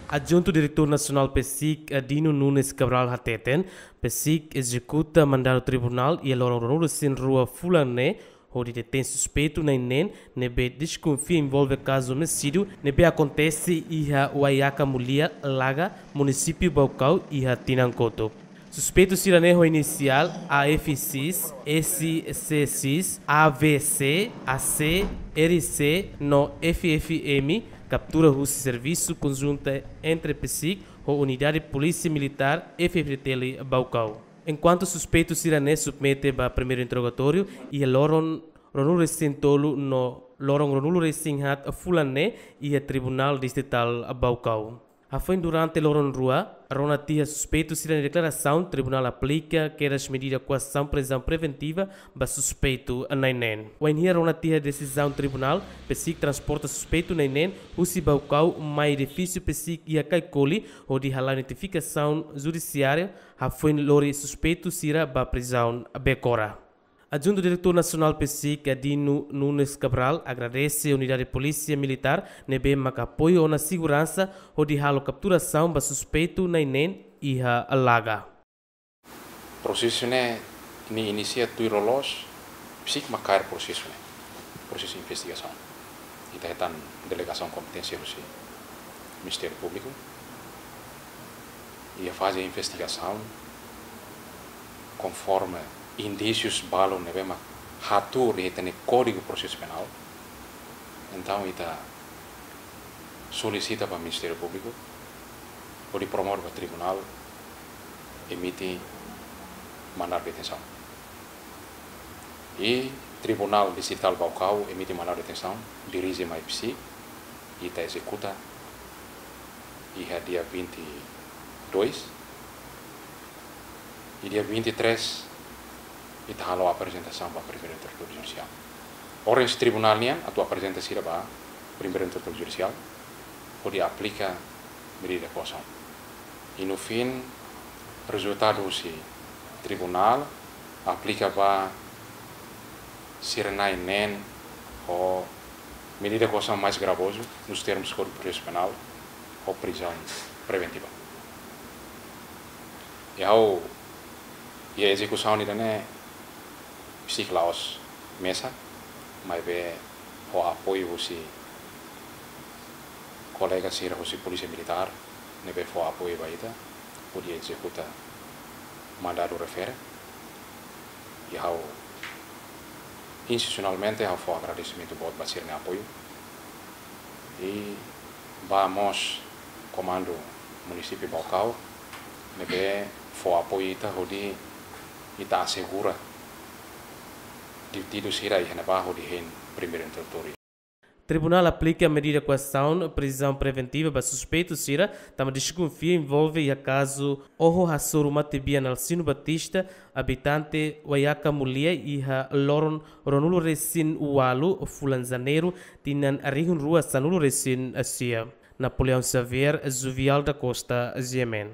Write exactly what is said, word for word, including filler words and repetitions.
Adjuntu Diretór Nasionál PCIC, Dino Nunes Cabral hateten, PCIC ezekuta mandadu tribunál iha loron ruanulu-resin-rua fulan ne'e, hodi detein suspeitu na'in neen ne'ebé deskonfia envolve kazu omisídiu ne'ebé akontese iha Waiaka Mulia, Laga, munisípiu Baucau, iha tinan kotuk. Suspeitu sira-ne'e ho inisiál A F X, S C X, A V C, A C, R C no F F M, kaptura husi servisu konjunta entre PCIC ho Unidade Polísia Militár F F T L Baucau. Enkuantu suspeitu sira-ne'e submete ba primeiru interrogatóriu iha loron ruanulu-resin-tolu no loron ruanulu-resin-haat fulan ne'e iha Tribunál Distritál Baucau. Hafoin durante loron rua, rona tiha suspeitu sira-nia deklarasaun, tribunál aplika kedas medida koasaun prizaun preventiva ba suspeitu na'in neen. Wainhira rona tiha desizaun tribunál, PCIC transporta suspeitu na'in neen husi Baucau mai edifísiu PCIC iha Caicoli, hodi hala'o identifikasaun judisiária, hafoin lori suspeitu sira ba prizaun Becora. Adjuntu Diretór Nasionál PCIC, Dino Nunes Cabral, agradese Unidade Polísia Militár ne'ebé maka apoiu ona seguransa hodi halo kapturasaun ba suspeitu na'in neen iha Laga. Prosesu ne'e, ne'e inisia tuir loloos, PCIC mak kaer prosesu ne'e, prosesu investigasaun. Ita hetan delegasaun kompeténsia husi Ministériu Públiku iha faze investigasaun konforme indísius balun ne'ebé mak hatuur iha ita-nia Kódigu Prosesu Penál. Entaun, ita solisita ba Ministériu Públiku hodi promove ba tribunál emite mandadu detensaun. I Tribunál Distritál Baucau emite mandadu detensaun, dirije mai PCIC, ita ezekuta iha dia vinte e dois, i dia vinte e três ita halo aprezentasaun ba Primeiru Interlokutór Judisiál. Ordens tribunál nian atu aprezenta sira ba Primeiru Interlokutór Judisiál hodi aplika medida koasaun. I no fin, rezultadu husi tribunál aplika ba sira na'in neen ho medida koasaun mais gravozu, nos termos Kódigu Prosesu Penál, ho prizaun preventiva. I ha'u, iha ezekusaun ida-ne'e, PCIC la'ós mesak, maibé ho apoiu husi kolega sira husi Polísia Militár, ne'ebé fó apoiu ba ita, hodi ezekuta mandadu refere. I ha'u, institusionalmente, ha'u fó agradesimentu boot ba sira-nia apoiu. I ba mós Komandu Munisípiu Baucau, ne'ebé fó apoiu ita hodi ita asegura detidu sira iha ne'ebá hodi hein Primeiru Interlokutór. Tribunál aplika medida koasaun prizaun preventiva ba suspeitu sira, tanba deskonfia envolve iha kazu oho hasoru matebian Alcino Batista, abitante Waiaka Mulia, iha loron ruanulu-resin-ualu fulan Janeiru, tinan rihun rua sanulu-resin-sia. Napoleão Xavier, Juvial da Costa, G M N.